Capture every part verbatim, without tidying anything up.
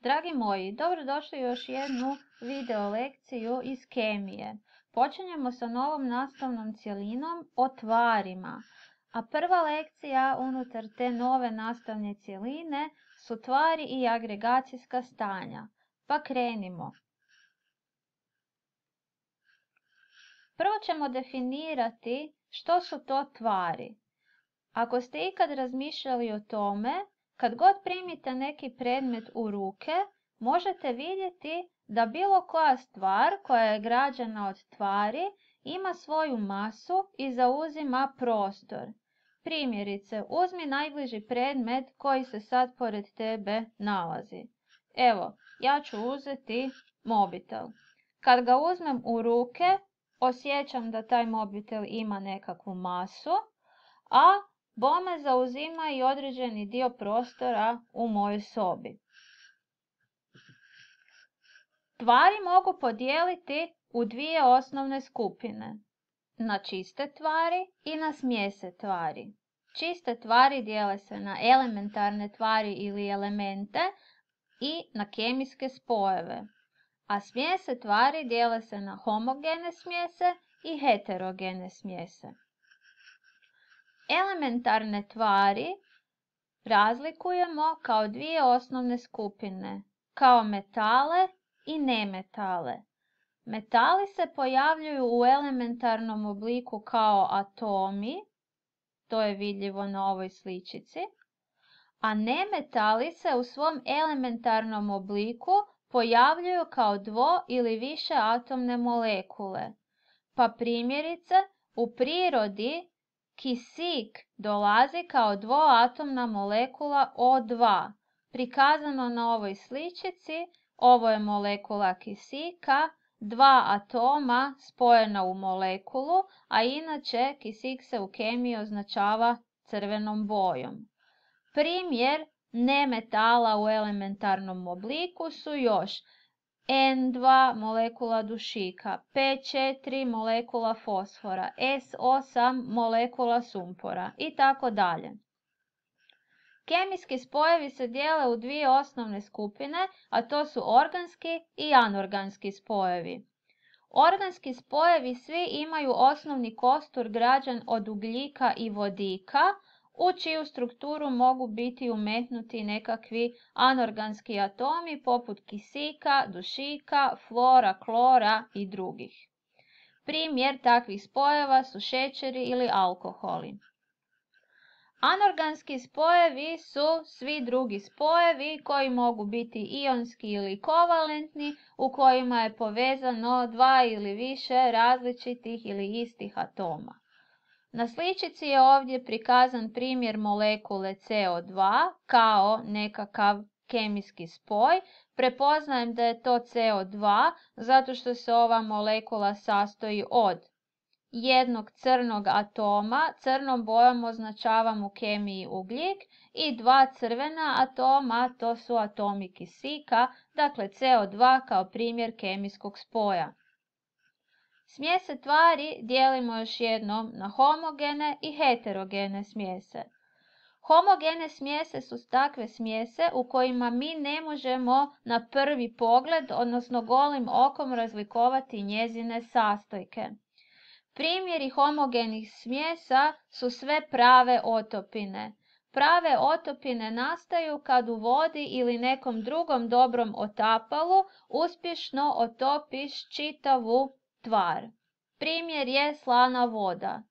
Dragi moji, dobrodošli u još jednu video lekciju iz kemije. Počinjemo sa novom nastavnom cjelinom o tvarima. A prva lekcija unutar te nove nastavne cjeline su tvari i agregacijska stanja. Pa krenimo. Prvo ćemo definirati što su to tvari. Ako ste ikad razmišljali o tome, kad god primite neki predmet u ruke, možete vidjeti da bilo koja stvar koja je građena od tvari ima svoju masu i zauzima prostor. Primjerice, uzmi najbliži predmet koji se sad pored tebe nalazi. Evo, ja ću uzeti mobitel. Kad ga uzmem u ruke, osjećam da taj mobitel ima nekakvu masu, a bome zauzima i određeni dio prostora u mojoj sobi. Tvari mogu podijeliti u dvije osnovne skupine. Na čiste tvari i na smjese tvari. Čiste tvari dijele se na elementarne tvari ili elemente i na kemijske spojeve. A smjese tvari dijele se na homogene smjese i heterogene smjese. Elementarne tvari razlikujemo kao dvije osnovne skupine, kao metale i nemetale. Metali se pojavljuju u elementarnom obliku kao atomi, to je vidljivo na ovoj sličici, a nemetali se u svom elementarnom obliku pojavljuju kao dvo ili više atomne molekule. Pa primjerice, u prirodi kisik dolazi kao dvoatomna molekula O dva. Prikazano na ovoj sličici, ovo je molekula kisika, dva atoma spojena u molekulu, a inače kisik se u kemiji označava crvenom bojom. Primjer nemetala u elementarnom obliku su još en dva molekula dušika, pe četiri molekula fosfora, es osam molekula sumpora i tako dalje. Kemijski spojevi se dijele u dvije osnovne skupine, a to su organski i anorganski spojevi. Organski spojevi svi imaju osnovni kostur građen od ugljika i vodika, u čiju strukturu mogu biti umetnuti nekakvi anorganski atomi poput kisika, dušika, flora, klora i drugih. Primjer takvih spojeva su šećeri ili alkoholi. Anorganski spojevi su svi drugi spojevi koji mogu biti ionski ili kovalentni, u kojima je povezano dva ili više različitih ili istih atoma. Na sličici je ovdje prikazan primjer molekule ce o dva kao nekakav kemijski spoj. Prepoznajem da je to ce o dva zato što se ova molekula sastoji od jednog crnog atoma, crnom bojom označavam u kemiji ugljik, i dva crvena atoma, to su atomi kisika, dakle ce o dva kao primjer kemijskog spoja. Smjese tvari dijelimo još jednom na homogene i heterogene smjese. Homogene smjese su takve smjese u kojima mi ne možemo na prvi pogled, odnosno golim okom, razlikovati njezine sastojke. Primjeri homogenih smjesa su sve prave otopine. Prave otopine nastaju kad u vodi ili nekom drugom dobrom otapalu uspješno otopiš čitavu tvar. Primjer je slana voda.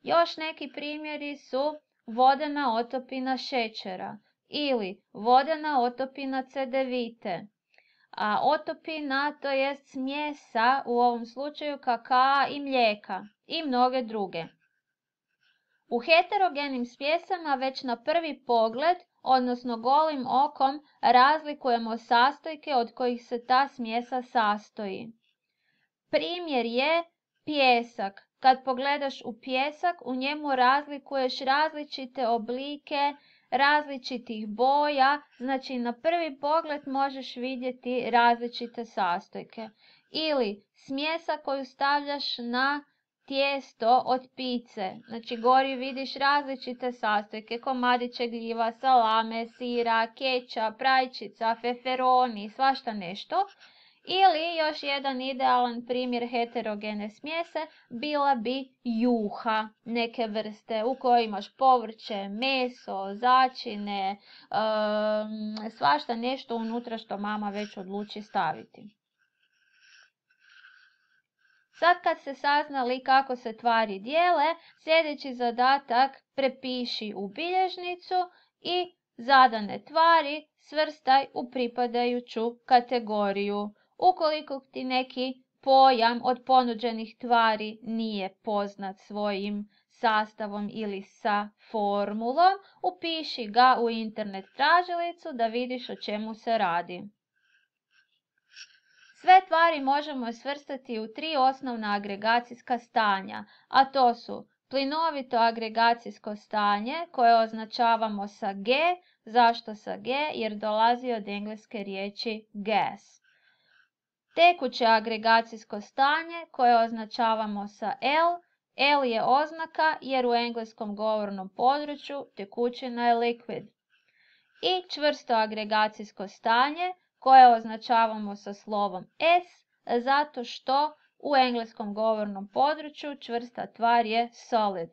Još neki primjeri su vodena otopina šećera ili vodena otopina cedevite. A otopina, to je smjesa, u ovom slučaju kakaa i mlijeka i mnoge druge. U heterogenim smjesama već na prvi pogled, odnosno golim okom, razlikujemo sastojke od kojih se ta smjesa sastoji. Primjer je pijesak. Kad pogledaš u pijesak, u njemu razlikuješ različite oblike, različitih boja, znači na prvi pogled možeš vidjeti različite sastojke. Ili smjesa koju stavljaš na tijesto od pice. Znači gori vidiš različite sastojke, komadiće gljiva, salame, sira, kečap, rajčica, feferoni, svašta nešto. Ili još jedan idealan primjer heterogene smjese bila bi juha neke vrste u kojoj imaš povrće, meso, začine, um, svašta nešto unutra što mama već odluči staviti. Sad kad ste saznali kako se tvari dijele, sljedeći zadatak prepiši u bilježnicu i zadane tvari svrstaj u pripadajuću kategoriju. Ukoliko ti neki pojam od ponuđenih tvari nije poznat svojim sastavom ili sa formulom, upiši ga u internet tražilicu da vidiš o čemu se radi. Sve tvari možemo svrstati u tri osnovna agregacijska stanja, a to su plinovito agregacijsko stanje koje označavamo sa G. Zašto sa G? Jer dolazi od engleske riječi gas. Tekuće agregacijsko stanje koje označavamo sa L. L je oznaka jer u engleskom govornom području tekućina je liquid. I čvrsto agregacijsko stanje koje označavamo sa slovom S, zato što u engleskom govornom području čvrsta tvar je solid.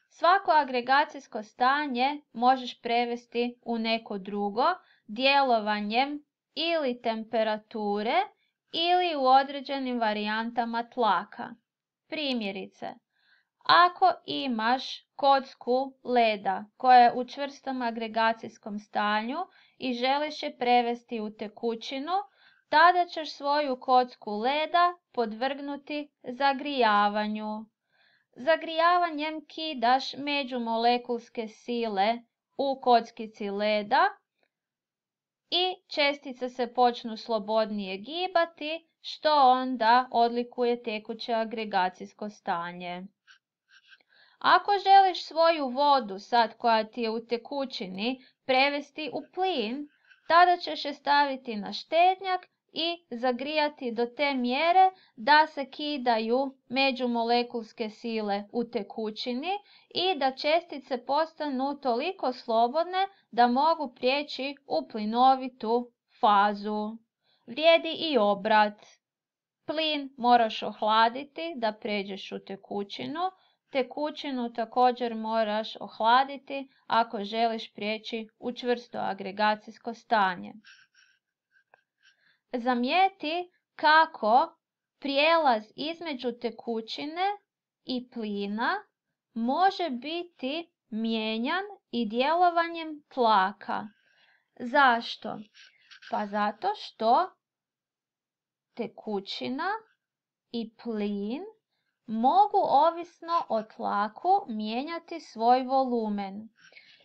Svako agregacijsko stanje možeš prevesti u neko drugo djelovanjem ili temperature ili u određenim varijantama tlaka. Primjerice, ako imaš kocku leda koja je u čvrstom agregacijskom stanju i želiš je prevesti u tekućinu, tada ćeš svoju kocku leda podvrgnuti zagrijavanju. Zagrijavanjem kidaš međumolekulske sile u kockici leda i čestice se počnu slobodnije gibati, što onda odlikuje tekuće agregacijsko stanje. Ako želiš svoju vodu, sad koja ti je u tekućini, prevesti u plin, tada ćeš je staviti na štednjak i zagrijati do te mjere da se kidaju međumolekulske sile u tekućini i da čestice postanu toliko slobodne da mogu prijeći u plinovitu fazu. Vrijedi i obrat. Plin moraš ohladiti da pređeš u tekućinu. Tekućinu također moraš ohladiti ako želiš prijeći u čvrsto agregacijsko stanje. Zamijeti kako prijelaz između tekućine i plina može biti mijenjan i djelovanjem tlaka. Zašto? Pa zato što tekućina i plin mogu ovisno o tlaku mijenjati svoj volumen.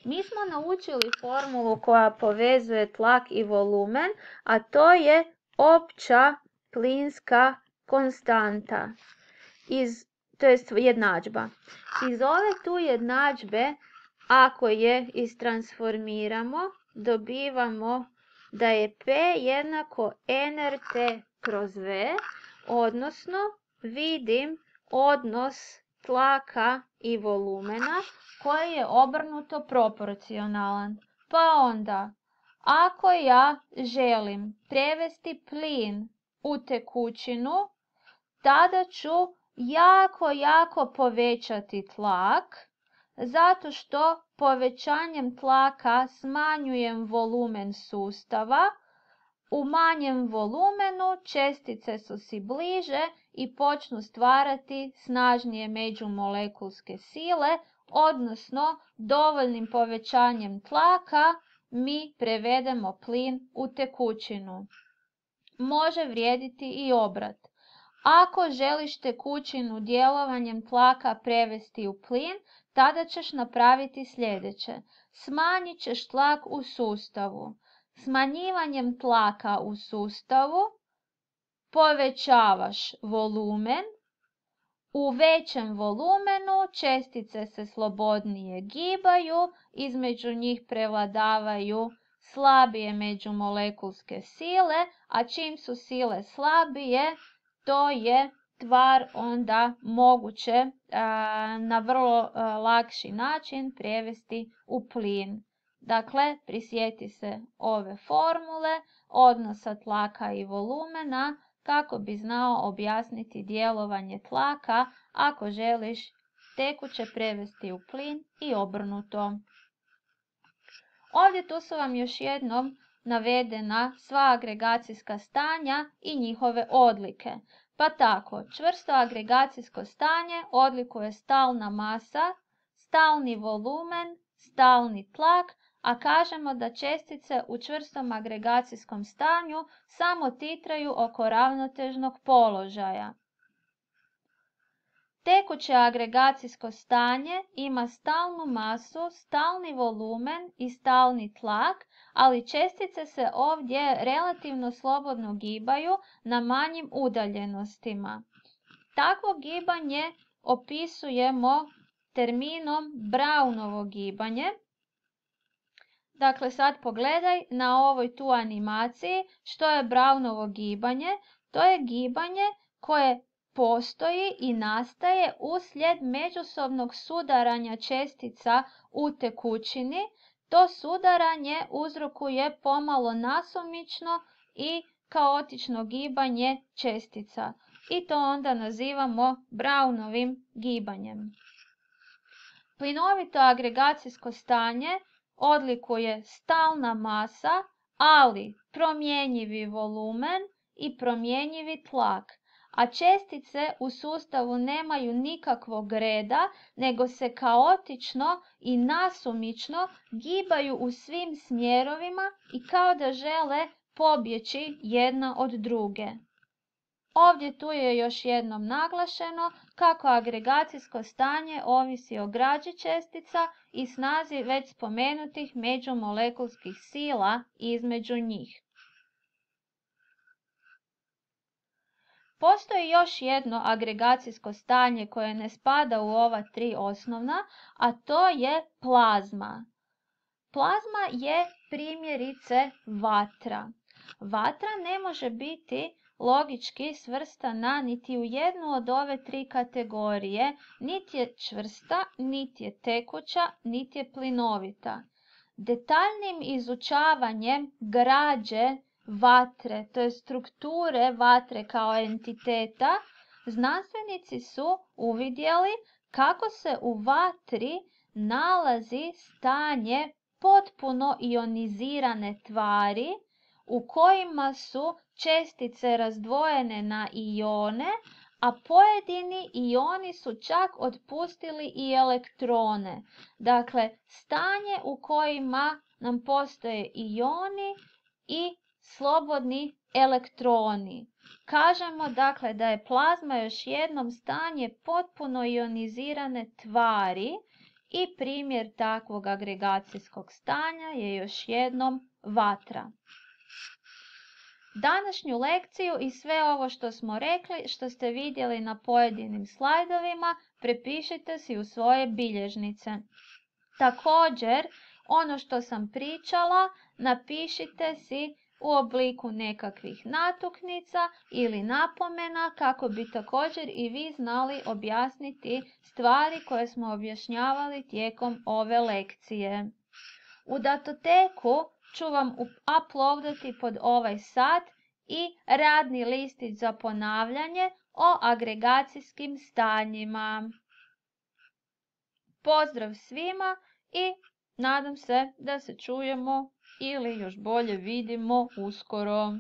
Mi smo naučili formulu koja povezuje tlak i volumen, a to je opća plinska konstanta, iz, to jest jednadžba. Iz ove tu jednadžbe, ako je istransformiramo, dobivamo da je P jednako N R T kroz V, odnosno vidim odnos tlaka i volumena koji je obrnuto proporcionalan. Pa onda, ako ja želim prevesti plin u tekućinu, tada ću jako, jako povećati tlak, zato što povećanjem tlaka smanjujem volumen sustava. U manjem volumenu čestice su si bliže i počnu stvarati snažnije međumolekulske sile, odnosno dovoljnim povećanjem tlaka mi prevedemo plin u tekućinu. Može vrijediti i obrat. Ako želiš tekućinu djelovanjem tlaka prevesti u plin, tada ćeš napraviti sljedeće. Smanjit ćeš tlak u sustavu. Smanjivanjem tlaka u sustavu povećavaš volumen. U većem volumenu čestice se slobodnije gibaju, između njih prevladavaju slabije međumolekulske sile, a čim su sile slabije, to je tvar onda moguće a, na vrlo a, lakši način prevesti u plin. Dakle, prisjeti se ove formule, odnosa tlaka i volumena, kako bi znao objasniti djelovanje tlaka ako želiš tekuće prevesti u plin i obrnuto. Ovdje tu su vam još jednom navedena sva agregacijska stanja i njihove odlike. Pa tako, čvrsto agregacijsko stanje odlikuje stalna masa, stalni volumen, stalni tlak, a kažemo da čestice u čvrstom agregacijskom stanju samo titraju oko ravnotežnog položaja. Tekuće agregacijsko stanje ima stalnu masu, stalni volumen i stalni tlak, ali čestice se ovdje relativno slobodno gibaju na manjim udaljenostima. Takvo gibanje opisujemo terminom Brownovo gibanje. Dakle, sad pogledaj na ovoj tu animaciji što je Brownovo gibanje. To je gibanje koje postoji i nastaje uslijed međusobnog sudaranja čestica u tekućini. To sudaranje uzrokuje pomalo nasumično i kaotično gibanje čestica i to onda nazivamo Brownovim gibanjem. Plinovito agregacijsko stanje odlikuje stalna masa, ali promjenjivi volumen i promjenjivi tlak, a čestice u sustavu nemaju nikakvog reda, nego se kaotično i nasumično gibaju u svim smjerovima i kao da žele pobjeći jedna od druge. Ovdje tu je još jednom naglašeno kako agregacijsko stanje ovisi o građi čestica i snazi već spomenutih međumolekulskih sila između njih. Postoji još jedno agregacijsko stanje koje ne spada u ova tri osnovna, a to je plazma. Plazma je primjerice vatra. Vatra ne može biti logički svrstana niti u jednu od ove tri kategorije, niti je čvrsta, niti je tekuća, niti je plinovita. Detaljnim izučavanjem građe vatre, to je strukture vatre kao entiteta, znanstvenici su uvidjeli kako se u vatri nalazi stanje potpuno ionizirane tvari u kojima su čestice razdvojene na ione, a pojedini ioni su čak otpustili i elektrone. Dakle, stanje u kojima nam postoje ioni i slobodni elektroni. Kažemo dakle da je plazma još jednom stanje potpuno ionizirane tvari i primjer takvog agregacijskog stanja je još jednom vatra. Današnju lekciju i sve ovo što smo rekli, što ste vidjeli na pojedinim slajdovima, prepišite si u svoje bilježnice. Također, ono što sam pričala, napišite si u obliku nekakvih natuknica ili napomena kako bi također i vi znali objasniti stvari koje smo objašnjavali tijekom ove lekcije. U datoteku ću vam uploadati pod ovaj sat i radni listić za ponavljanje o agregacijskim stanjima. Pozdrav svima i nadam se da se čujemo ili još bolje vidimo uskoro.